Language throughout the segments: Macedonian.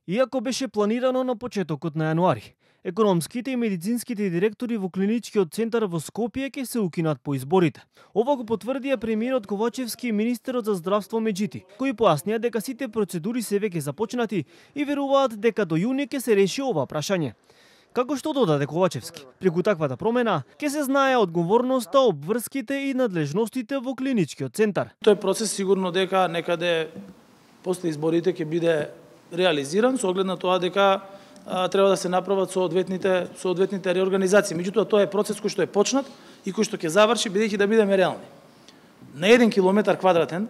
Иако беше планирано на почетокот на јануари, економските и медицинските директори во клиничкиот центар во Скопје ќе се укинат по изборите. Ова го потврдија премиерот Ковачевски и министерот за здравство Меджити, кои појаснија дека сите процедури се веќе започнати и веруваат дека до јуни ќе се реши ова прашање. Како што додаде Ковачевски, преку таквата промена ќе се знае одговорноста, обврските и надлежностите во клиничкиот центар. Тој процес сигурно дека некаде после изборите ќе биде реализиран со оглед на тоа дека треба да се направат соодветните реорганизации. Меѓутоа тоа е процес кој што е почнат и кој што ќе заврши бидејќи да бидеме реални. На 1 километар квадратен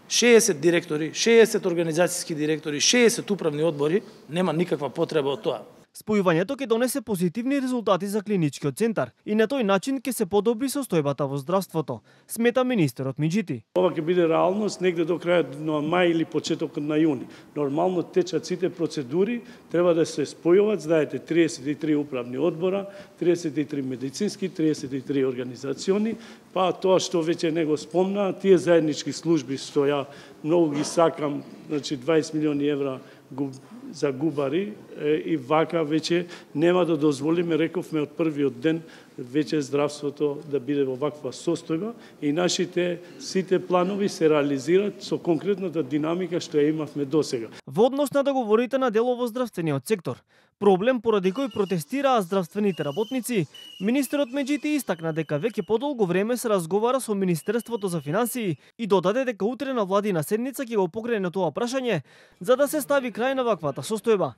60 директори, 60 организацијски директори, 60 управни одбори, нема никаква потреба од тоа. Спојувањето ќе донесе позитивни резултати за клиничкиот центар и на тој начин ќе се подобри состојбата во здравството, смета министерот Меджити. Ова ќе биде реалност негде до крајот на мај или почетокот на јуни. Нормално течат сите процедури, треба да се спојуваат, знаете, 33 управни одбора, 33 медицински, 33 организациони, па тоа што веќе не го спомна, тие заеднички служби што ја многу ги сакам, значи 20 милиони евра за губари и вака веќе нема да дозволиме, рековме од првиот ден, веќе здравството да биде во ваква состојба и нашите сите планови се реализираат со конкретната динамика што ја имавме досега. Во однос на договорите на дело во здравствениот сектор, проблем поради кој протестираа здравствените работници, министерот Меджити истакна дека веќе подолго време се разговара со Министерството за финансии и додаде дека утре на владина седница ќе го покрене тоа прашање за да се стави крај на ваквата состојба.